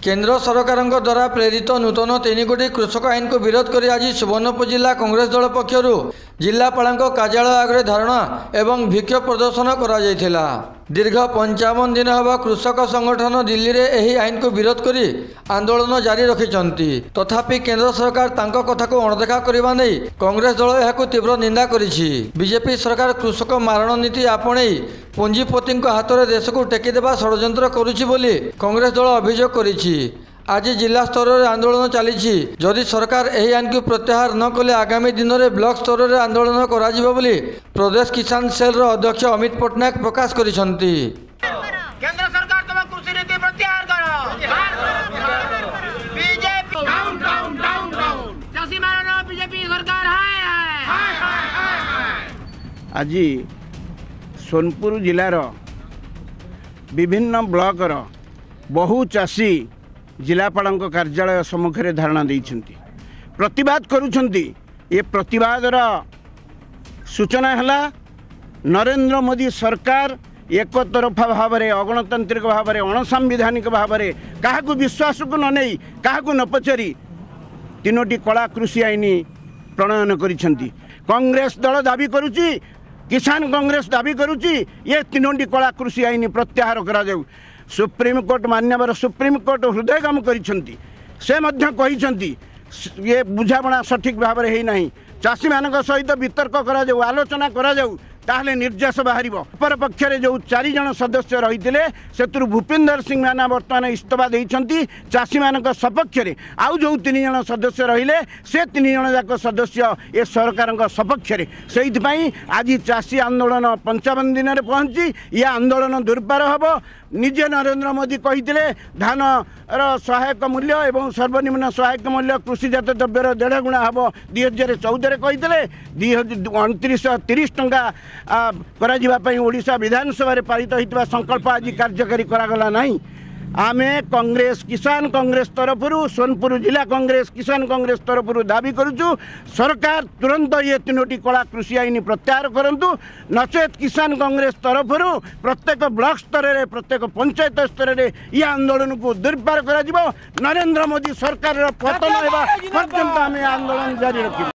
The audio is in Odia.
କେନ୍ଦ୍ର ସରକାରଙ୍କ ଦ୍ୱାରା ପ୍ରେରିତ ନୂତନ 3 ଗୋଟି କୃଷକ ଆଇନକୁ ବିରୋଧ କରି ଆଜି ସୁବର୍ଣ୍ଣପୁର ଜିଲ୍ଲା କଂଗ୍ରେସ ଦଳ ପକ୍ଷରୁ ଜିଲ୍ଲାପାଳଙ୍କ କାର୍ଯ୍ୟାଳୟ ଆଗରେ ଧାରଣା ଏବଂ ବିକ୍ଷୋଭ ପ୍ରଦର୍ଶନ କରାଯାଇଥିଲା। ଦୀର୍ଘ 55 ଦିନ ହେବ କୃଷକ ସଂଗଠନ ଦିଲ୍ଲୀରେ ଏହି ଆଇନକୁ ବିରୋଧ କରି ଆନ୍ଦୋଳନ ଜାରି ରଖିଛନ୍ତି। ତଥାପି କେନ୍ଦ୍ର ସରକାର ତାଙ୍କ କଥାକୁ ଅଣଦେଖା କରିବା ନେଇ କଂଗ୍ରେସ ଦଳ ଏହାକୁ ତୀବ୍ର ନିନ୍ଦା କରିଛି। ବିଜେପି ସରକାର କୃଷକ ମାରଣ ନୀତି ଆପଣେଇ ପୁଞ୍ଜିପତିଙ୍କ ହାତରେ ଦେଶକୁ ଟେକିଦେବା ଷଡ଼ଯନ୍ତ୍ର କରୁଛି ବୋଲି କଂଗ୍ରେସ ଦଳ ଅଭିଯୋଗ କରିଛି। ଆଜି ଜିଲ୍ଲା ସ୍ତରରେ ଆନ୍ଦୋଳନ ଚାଲିଛି। ଯଦି ସରକାର ଏହି ଆଇନକୁ ପ୍ରତ୍ୟାହାର ନ କଲେ, ଆଗାମୀ ଦିନରେ ବ୍ଲକ ସ୍ତରରେ ଆନ୍ଦୋଳନ କରାଯିବ ବୋଲି ପ୍ରଦେଶ କିଷାନ ସେଲ୍ର ଅଧ୍ୟକ୍ଷ ଅମିତ ପଟ୍ଟନାୟକ ପ୍ରକାଶ କରିଛନ୍ତି। କେନ୍ଦ୍ର ସରକାର, ତମ କୃଷି ନୀତି ପ୍ରତ୍ୟାହାର କର। BJP down down down down. ଚାଷୀ ମାରଣ ବିଜେପି ସରକାର ହାୟ ହାୟ। ଆଜି ସୋନପୁର ଜିଲ୍ଲାର ବିଭିନ୍ନ ବ୍ଲକର ବହୁ ଚାଷୀ ଜିଲ୍ଲାପାଳଙ୍କ କାର୍ଯ୍ୟାଳୟ ସମ୍ମୁଖରେ ଧାରଣା ଦେଇଛନ୍ତି, ପ୍ରତିବାଦ କରୁଛନ୍ତି। ଏ ପ୍ରତିବାଦର ସୂଚନା ହେଲା, ନରେନ୍ଦ୍ର ମୋଦି ସରକାର ଏକତରଫା ଭାବରେ, ଅଗଣତାନ୍ତ୍ରିକ ଭାବରେ, ଅଣସାମ୍ବିଧାନିକ ଭାବରେ, କାହାକୁ ବିଶ୍ୱାସକୁ ନ ନେଇ, କାହାକୁ ନ ପଚାରି ତିନୋଟି କଳା କୃଷି ଆଇନ ପ୍ରଣୟନ କରିଛନ୍ତି। କଂଗ୍ରେସ ଦଳ ଦାବି କରୁଛି, କିଷାନ କଂଗ୍ରେସ ଦାବି କରୁଛି, ଏ ତିନୋଟି କଳା କୃଷି ଆଇନ ପ୍ରତ୍ୟାହାର କରାଯାଉ। ସୁପ୍ରିମକୋର୍ଟ, ମାନ୍ୟବର ସୁପ୍ରିମକୋର୍ଟ ହୃଦୟଙ୍ଗମ କରିଛନ୍ତି। ସେ ମଧ୍ୟ କହିଛନ୍ତି, ଏ ବୁଝାମଣା ସଠିକ୍ ଭାବରେ ହେଇନାହିଁ, ଚାଷୀମାନଙ୍କ ସହିତ ବିତର୍କ କରାଯାଉ, ଆଲୋଚନା କରାଯାଉ, ତାହେଲେ ନିର୍ଦ୍ଦେଶ ବାହାରିବ। ଅପରପକ୍ଷରେ ଯେଉଁ ଚାରିଜଣ ସଦସ୍ୟ ରହିଥିଲେ, ସେଥିରୁ ଭୂପିନ୍ଦର ସିଂ ମାନା ବର୍ତ୍ତମାନ ଇସ୍ତଫା ଦେଇଛନ୍ତି ଚାଷୀମାନଙ୍କ ସପକ୍ଷରେ। ଆଉ ଯେଉଁ ତିନି ଜଣ ସଦସ୍ୟ ରହିଲେ, ସେ ତିନି ଜଣ ଯାକ ସଦସ୍ୟ ଏ ସରକାରଙ୍କ ସପକ୍ଷରେ। ସେଇଥିପାଇଁ ଆଜି ଚାଷୀ ଆନ୍ଦୋଳନ 55 ଦିନରେ ପହଞ୍ଚି ଇଏ ଆନ୍ଦୋଳନ ଦୁର୍ବାର ହେବ। ନିଜେ ନରେନ୍ଦ୍ର ମୋଦି କହିଥିଲେ, ଧାନର ସହାୟକ ମୂଲ୍ୟ ଏବଂ ସର୍ବନିମ୍ନ ସହାୟକ ମୂଲ୍ୟ କୃଷିଜାତ ଦ୍ରବ୍ୟର ଦେଢ଼ ଗୁଣା ହେବ। 2014ରେ କହିଥିଲେ। 2930 ଟଙ୍କା କରାଯିବା ପାଇଁ ଓଡ଼ିଶା ବିଧାନସଭାରେ ପାରିତ ହୋଇଥିବା ସଂକଳ୍ପ ଆଜି କାର୍ଯ୍ୟକାରୀ କରାଗଲା ନାହିଁ। ଆମେ କଂଗ୍ରେସ, କିଷାନ କଂଗ୍ରେସ ତରଫରୁ, ସୋନପୁର ଜିଲ୍ଲା କଂଗ୍ରେସ, କିଷାନ କଂଗ୍ରେସ ତରଫରୁ ଦାବି କରୁଛୁ, ସରକାର ତୁରନ୍ତ ଇଏ ତିନୋଟି କଳା କୃଷି ଆଇନ ପ୍ରତ୍ୟାହାର କରନ୍ତୁ, ନଚେତ୍ କିଷାନ କଂଗ୍ରେସ ତରଫରୁ ପ୍ରତ୍ୟେକ ବ୍ଲକ ସ୍ତରରେ, ପ୍ରତ୍ୟେକ ପଞ୍ଚାୟତ ସ୍ତରରେ ଇଏ ଆନ୍ଦୋଳନକୁ ଦୁର୍ବାର କରାଯିବ। ନରେନ୍ଦ୍ର ମୋଦି ସରକାରର ପତନ ହେବା ପର୍ଯ୍ୟନ୍ତ ଆମେ ଆନ୍ଦୋଳନ ଜାରି ରଖିବୁ।